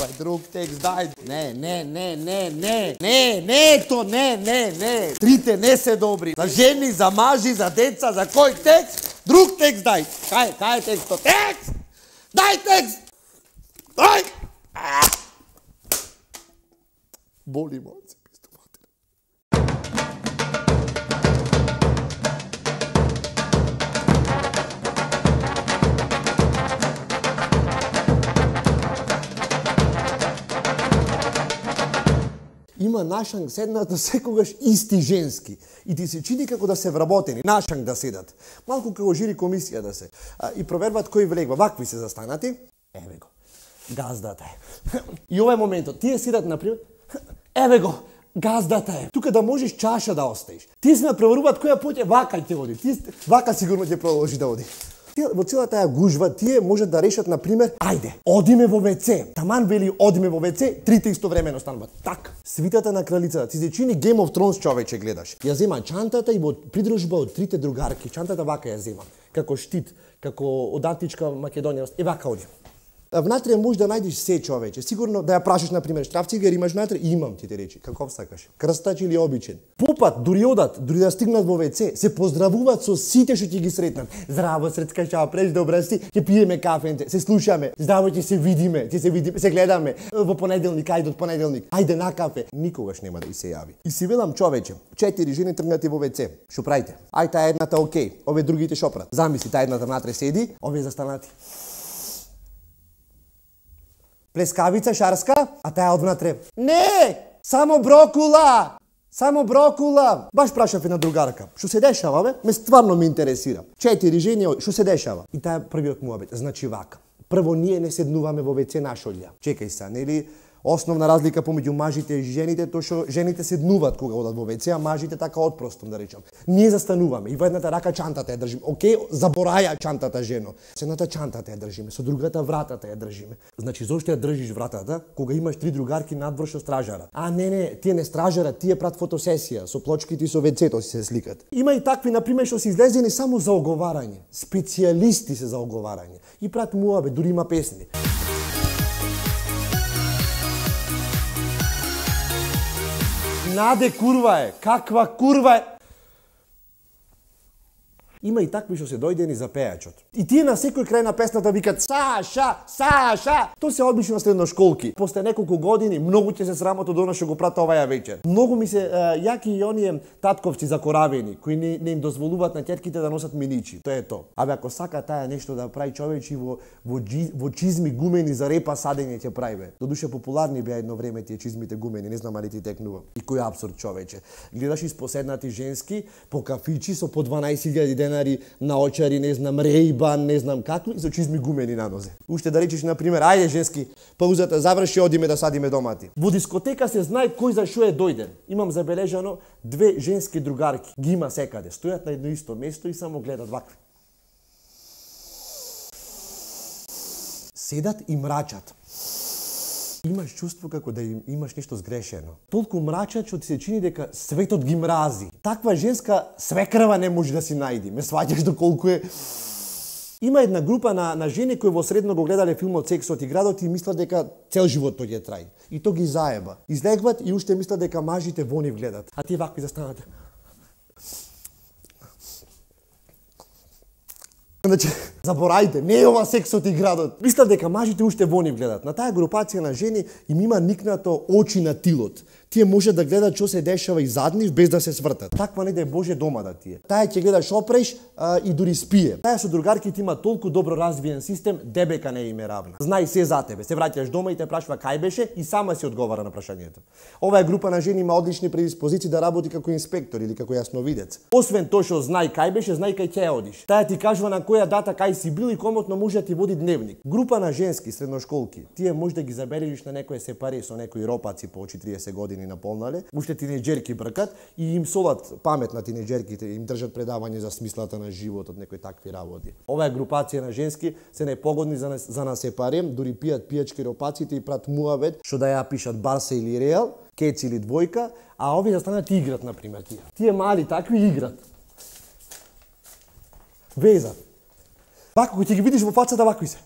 Прај друг текст, дај. Не. Трите не се добри. За жени, за мажи, за деца, за кој текст? Друг текст дај. Кај е текстот? Текст! Дај текст! Дај! Боли мо. Има нашанг седнат секогаш исти женски и ти се чини како да се вработени, нашанг да седат. Малку како жири комисија да се. И провербат кој влегва. Вакви се застанати. Еве го. Газдата е. И овој моментот. Тие седат например. Еве го. Газдата е. Тука да можеш чаша да оставиш. Тие се проверуваат која пат вака ќе оди. Вака сигурно ќе продолжи да оди. Во цела таа гужва, тие можат да решат, например, ајде, одиме во WC. Таман вели одиме во WC, трите истовремено стануваат. Так, свитата на кралицата, ти се чини Game of Thrones, човече, гледаш. Ја зема чантата и во придружба од трите другарки, чантата вака ја зема, како штит, како од античка Македонија, и вака оди. Внатре може да најдеш се, човече. Сигурно да ја прашаш, например, штрафцигер имаш внатре? Имам, ти те речи. Каков сакаш? Крстач или обичен? Попат, дури одат, дури да стигнат во WC, се поздравуваат со сите што ќе ги сретнат. Здраво, сретка, шао, преш, добра си, ќе пиеме кафенте, се слушаме. Здраво, ќе се видиме, се гледаме. Во понеделник, ајде од понеделник. Ајде на кафе. Никогаш нема да и се јави. И си велам, човече, 4 жени тргнати во WC. Шо правите? Ај таа едната окей, овие другите шо прават? Замисли, таа едната внатре седи, овие застанати. Плескавица шарска, а таа одвнатре. Не! Само брокула! Само брокула! Баш прашав една другарка. Што се дешава, бе? Ме стварно ме интересира. 4 жени, што се дешава? И таа првиот муабет. Значи вака. Прво, ние не седнуваме во WC нашолја. Чекај се, нели? Основна разлика помеѓу мажите и жените тоа што жените седнуваат кога одат во WC, а мажите така отпростом да речам. Ние застануваме и во едната рака чантата ја држиме. Океј, забораја чантата жено. Со едната чантата ја држиме, со другата вратата ја држиме. Значи зошто ја држиш вратата кога имаш 3 другарки надвор што стражара? А не, тие не стражара, тие прат фотосесија со плочките и со WC-то си се сликат. Има и такви например што се излезени само за оговарање. Специјалисти се за оговарање. И прат муабе, дури има песни. Наде курва е, каква курва е. Има и такви што се дојдени за пејачот. И тие на секој крај на песната викат Саша, Саша. Тоа се обично средношколки. После неколку години многу ќе се срамотат од она што го прата оваа вечер. Многу ми се јаки и оние татковци закоравени кои не им дозволуваат на ќерките да носат миничи. Тоа е тоа. Абе ако сака таа нешто да прави човечи во чизми гумени за репа садење ќе прави бе. Додуше популарни беа едно време тие чизмите гумени, не знам али ти текнува. И кој апсурд човече. Гледаш испоседнати женски по кафичи со по 12.000 денари на очари, не знам, Рейбан, не знам какви, со чизми гумени на нозе. Уште да речеш, например, ајде женски, паузата заврши, одиме да садиме домати. Во дискотека се знае кој за шо е дојден. Имам забележано 2 женски другарки. Ги има секаде. Стојат на едно исто место и само гледат вакви. Седат и мрачат. Имаш чувство како да имаш нешто сгрешено. Толку мрачат што ти се чини дека светот ги мрази. Таква женска свекрва не може да си најди. Ме сваќаш доколку е. Има една група на жени кои во средно го гледале филмот Сексот и градот и мислат дека цел живот тој ќе траи. И то ги заеба. Излегват и уште мислат дека мажите во нив гледат. А тие вакви застанат. Значи, заборајте, не е ова Сексот и градот. Мислат дека мажите уште во нив гледат. На таа групација на жени им има никнато очи на тилот. Тие може да гледат што се дешава и зад нив без да се свртат. Таква не да е Боже дома да тие. Таа ќе гледа шопреш и дури спие. Таа со другарките има толку добро развиен систем, дебека не им е равна. Знај се за тебе. Се враќаш дома и те прашува кај беше и сама си одговара на прашањето. Оваа група на жени има одлични предиспозиции да работи како инспектор или како јасновидец. Освен тоа што знај кај беше, знај кај ќе одиш. Таа ти кажува на која дата кај си бил и комотно може да ти води дневник. Група на женски средношколки, тие може да ги забележиш на некое сепаре со некои ропаци по 40 години наполнале, уште тинеџерки бркат и им солат памет на тинеџерките, им држат предавање за смислата на животот, некои такви работи. Оваа групација на женски се непогодни за на сепаре, дури пијат пијачки ропаците и прат муавет што да ја пишат Барса или Реал, Кец или двојка, а овие застанат играт на пример тие. Тие мали такви играт. Везат. Вако, кој ќе ги видиш во фацата, вакви се.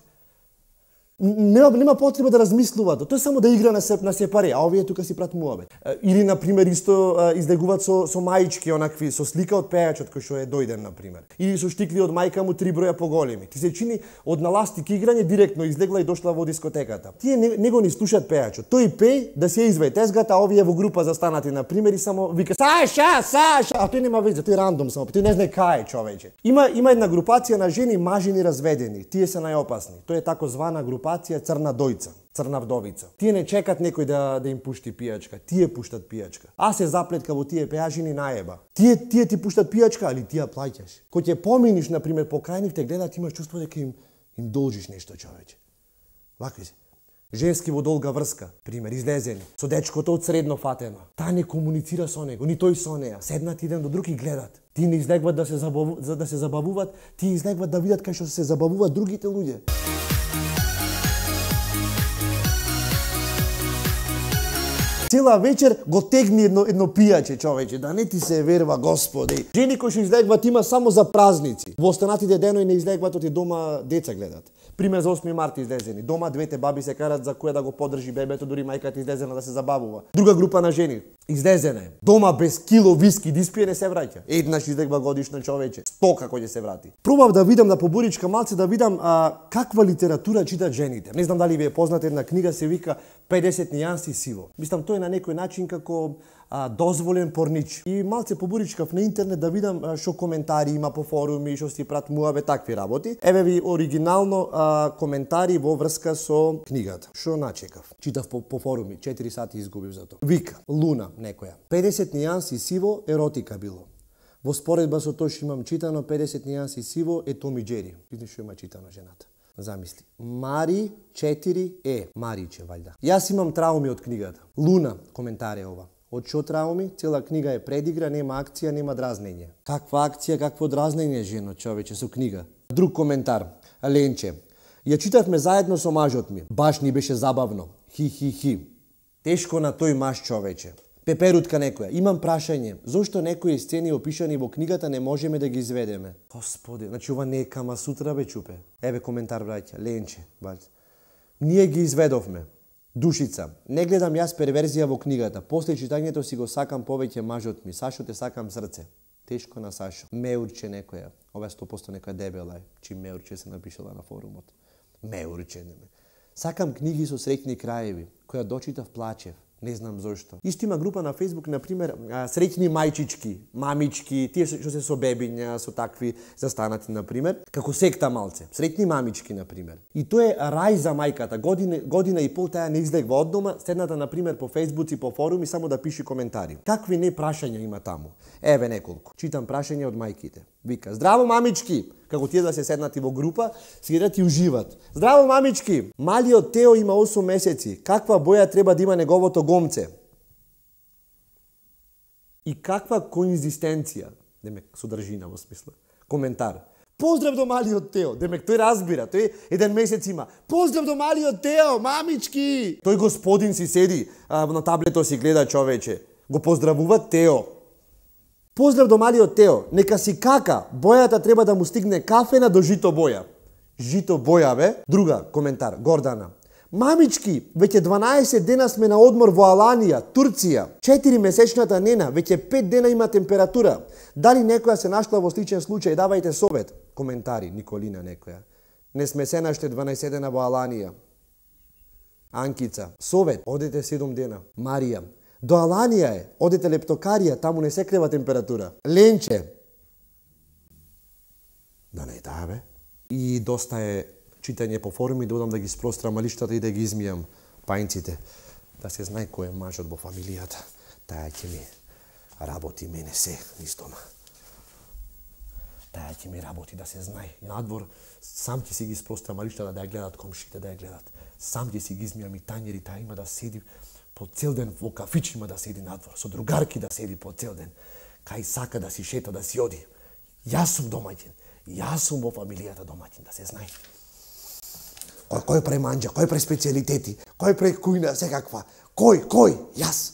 Нема потреба да размислуваат. Тој само да игра на се пари, а овие тука си прат муабет. Или на пример исто излегуваат со маички онакви со слика од пејачот кој што е дојден на пример. Или со штикли од мајка му 3 броја поголеми. Ти се чини од наластик играње директно излегла и дошла во дискотеката. Тие него ни слушаат пејачот. Тој пеј да се извади тезгата, а овие во група застанати на пример и само вика Саша, а тој нема веќе, тој рандом само, тој не знае кај е човече. Има една групација на жени мажини разведени. Тие се најопасни. Тоа е тако звана групација црна дојца, црна вдовица. Тие не чекат некој да им пушти пијачка, тие пуштат пијачка. А се заплетка во тие пејажини наеба. Тие ти пуштат пијачка, али ти ја плаќаш. Кога ќе поминиш на пример покрај нив те гледат, имаш чувство дека им должиш нешто човече. Вакви се. Женски во долга врска, пример, излезени, со дечкото од средно фатено. Таа не комуницира со него, ни тој со неа. Седнат еден до друг и гледат. Тие не излегват да се забавуваат, тие излегват да видат кај што се забавуваат другите луѓе. Цела вечер го тегни едно пијаче човече, да не ти се верва, Господи. Жени кои што излегват има само за празници. Во останатите денови не излегват, оти дома деца гледат. Пример за 8 март излезени. Дома двете баби се карат за која да го подржи бебето, дури мајката излезена да се забавува. Друга група на жени излезена е. Дома без кило виски да испие не се враќа. Еднаш излегва годишно човече. 100 како ќе се врати. Пробав да видам на поборичка малце да видам каква литература читат жените. Не знам дали ви е позната една книга, се вика 50 нијанси сиво. Мислам тоа е на некој начин како дозволен порнич. И малце поборичкав на интернет да видам што коментари има по форуми, што си прат муабе такви работи. Еве ви оригинално коментари во врска со книгата. Што начекав? Читав по форуми, 4 сати изгубив за тоа. Вика, Луна некоја. 50 нијанси сиво еротика било. Во споредба со тоа што имам читано 50 нијанси сиво е Том и Џери. Видиш што има читано жената. Замисли. Мари 4 е Мариче ваljda. Јас имам трауми од книгата. Луна коментар е ова. Од што трауми? Цела книга е предигра, нема акција, нема дразнење. Каква акција, какво дразнење, жено, човече, со книга? Друг коментар. Ленче. Ја читавме заедно со мажот ми. Баш ни беше забавно. Хи. Тешко на тој маж, човече. Пеперутка некоја. Имам прашање. Зошто некои сцени опишани во книгата не можеме да ги изведеме? Господи, значи ова не е Кама Сутра, бе, чупе. Еве коментар, браќа. Ленче, баќа. Ние ги изведовме. Душица. Не гледам јас перверзија во книгата. После читањето си го сакам повеќе мажот ми. Сашо те сакам срце. Тешко на Сашо. Меурче некоја. Ова 100% некоја дебела е. Чи Меурче се напишала на форумот. Меурче не ме. Сакам книги со среќни краеви. Која дочитав плачев. Не знам зошто. Исто има група на Facebook, на пример, среќни мајчички, мамички, тие што се со бебиња, со такви застанати, на пример, како секта малце. Среќни мамички, на пример. И тоа е рај за мајката. Година и пол таа не излегва од дома, седната, на пример, по Facebook и по форуми, само да пише коментари. Какви не прашања има таму? Еве неколку. Читам прашања од мајките. Вика, здраво мамички! Како тие да се седнати во група, седат и уживат. Здраво мамички! Малиот Тео има 8 месеци. Каква боја треба да има неговото гомце? И каква конзистенција? Демек, содржина во смисла. Коментар. Поздрав до малиот Тео. Демек, тој разбира. Тој 1 месец има. Поздрав до малиот Тео, мамички! Тој господин си седи на таблето си гледа, човече. Го поздравува Тео. Поздрав до малиот Тео, нека си кака, бојата треба да му стигне кафена до жито боја. Жито боја, бе? Друга коментар, Гордана. Мамички, веќе 12 дена сме на одмор во Аланија, Турција. 4 месечната нена, веќе 5 дена има температура. Дали некоја се нашла во сличен случај, давајте совет. Коментари, Николина некоја. Не сме се наште 12 дена во Аланија. Анкица, совет, одете 7 дена. Марија, до Аланија е, одете лептокарија, таму не се крива температура. Ленче. Да не таа, бе. И доста е читање по форуми, да одам да ги спрострам лиштата и да ги измијам пајнците. Да се знае кој е мажот во фамилијата. Таја ќе ми работи мене се низ дома. Таја ќе ми работи да се знае. Надвор сам ќе си ги спрострам лиштата да ја гледат комшите, да ја гледат. Сам ќе си ги измијам и тањери, таа има да седи по цел ден во кафич, има да седи надвор, со другарки да седи по цел ден. Кај сака да си шета, да си оди. Јас сум домаќин. Јас сум во фамилијата домаќин, да се знае. Кој прави манџа, кој прави специјалитети, кој прави кујна, секаква. Кој? Јас.